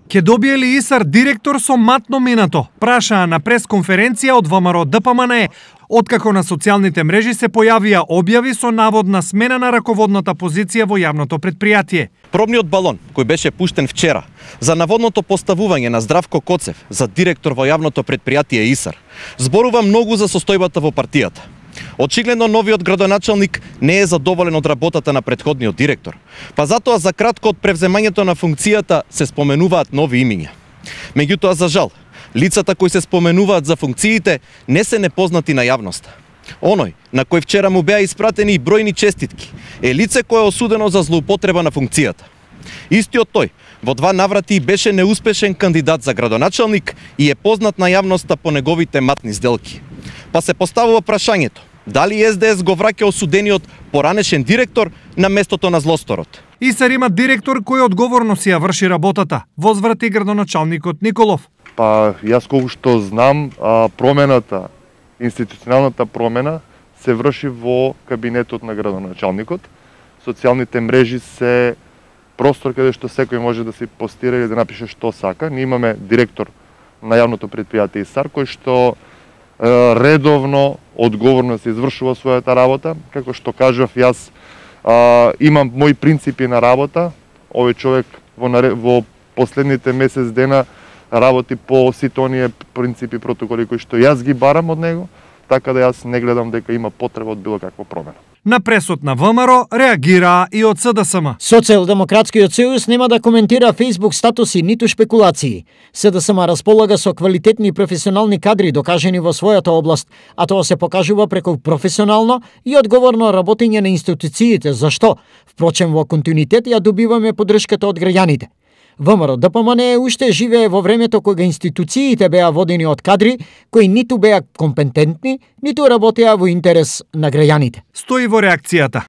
Ке добие ли ИСАР директор со матно минато? Прашаа на пресконференција од ВМРО ДПМНЕ, откако на социјалните мрежи се појавија објави со наводна смена на раководната позиција во јавното предпријатие. Пробниот балон, кој беше пуштен вчера, за наводното поставување на Здравко Коцев за директор во јавното предпријатие ИСАР, зборува многу за состојбата во партијата. Очигледно новиот градоначалник не е задоволен од работата на претходниот директор, па затоа за кратко од превземањето на функцијата се споменуваат нови имиња. Меѓутоа, за жал, лицата кои се споменуваат за функциите не се непознати на јавноста. Оној, на кој вчера му беа испратени и бројни честитки, е лице кое е осудено за злоупотреба на функцијата. Истиот тој, во 2 наврати беше неуспешен кандидат за градоначалник и е познат на јавноста по неговите матни сделки. Па се поставува прашањето, дали СДС го враќа осудениот поранешен директор на местото на злосторот? ИСАР има директор кој одговорно си ја врши работата, возврати градоначалникот Николов. Па јас колку што знам, промената, институционалната промена се врши во кабинетот на градоначалникот. Социјалните мрежи се простор каде што секој може да се постира или да напише што сака. Ние имаме директор на јавното предпријатие ИСАР кој што редовно, одговорно се извршува својата работа. Како што кажав, јас имам мои принципи на работа. Овој човек во последните месец дена работи по сите оние принципи, протоколи кои што јас ги барам од него, така да јас не гледам дека има потреба од било каква промена. На пресот на ВМРО реагираа и од СДСМ. Социјалдемократскиот сојуз нема да коментира Facebook статуси ниту шпекулации. СДСМ располага со квалитетни професионални кадри докажени во својата област, а тоа се покажува преку професионално и одговорно работење на институциите, зашто, впрочем, во континуитет ја добиваме поддршката од граѓаните. ВМРО ДПМНЕ уште живее во времето кога институциите беа водени од кадри кои ниту беа компетентни, ниту работеа во интерес на граѓаните. Стои во реакцијата.